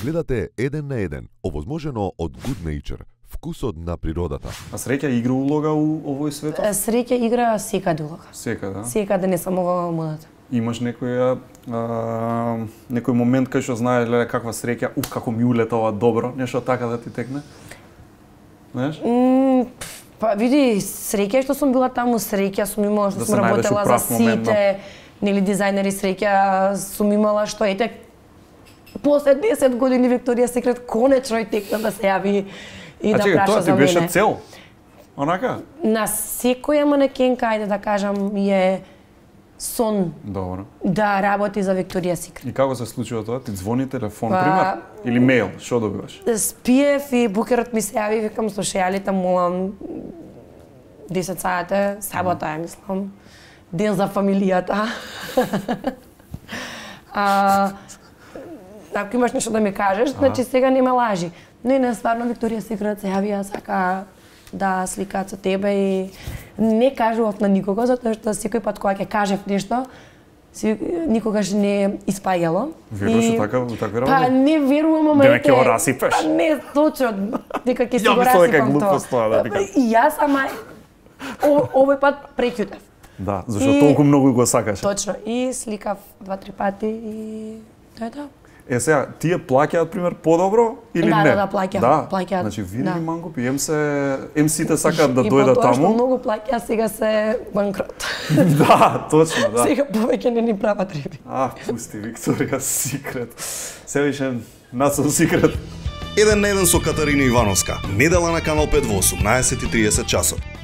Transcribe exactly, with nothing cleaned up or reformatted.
Гледате еден на еден, овозможено од Good Nature, вкусот на природата. А среќа игра улога у овој свет? Среќа игра секаде улога. Секаде, да? Секаде, не само во модата. Имаш некој а, некој момент кај што знаеш леле каква среќа, уф како ми улета ова добро, нешто така да ти текне? Знаеш? Mm, па види, среќа што сум била таму, среќа сум имала што Да сум се најдеш работела у за прав момент, сите, нели дизајнери, среќа сум имала што ете после десет години Викторија Секрет конечно и текна да се јави и а, да чекай, праша за мене. А чекай, тоа ти беше цел? Онака? На секоја манекенка, ајде да кажам, е сон. Добро. Да работи за Викторија Секрет. И како се случува тоа? Ти звони телефон, Па, пример? Или мејл? Што добиваш? Спиев и букерот ми се јави, викам слушајалите, молам десет саата, сабота е, мислам. Ден за фамилијата. а, ако имаш нешто да ми кажеш, ага. Значи сега нема лажи. Не, не, стварно Викторија Секрет се јавија, сака да сликаат со тебе и не кажував на никого, затоа што секој пат кога ќе кажев нешто, си, никогаш не испаѓало. Веруваш и... така, така работи? Па не верувам, ама дека ќе го расипеш? Па не, точно, дека ќе си го расипам тоа. Ја мислам дека тоа. глупост тоа, да дека. И јас ама овој пат преќутев. Да, зашто толку многу го сакаш. Точно, и сликав два-три пати и тоа е тоа. Е, сега, тие плаќаат, пример, подобро или да, не? Да, да, плаќаат, да? плаќаат. Значи, види да. ли мангупи, ем се, ем сите сакаат да дојдат таму. И по тоа што многу плаќа, сега се банкрот. Да, точно, да. Сега повеќе не ни прават риби. А, пусти, Викторија Секрет. Се више, Нацел Секрет. Еден на еден со Катарина Ивановска. Недела на Канал пет во осумнаесет и триесет часот.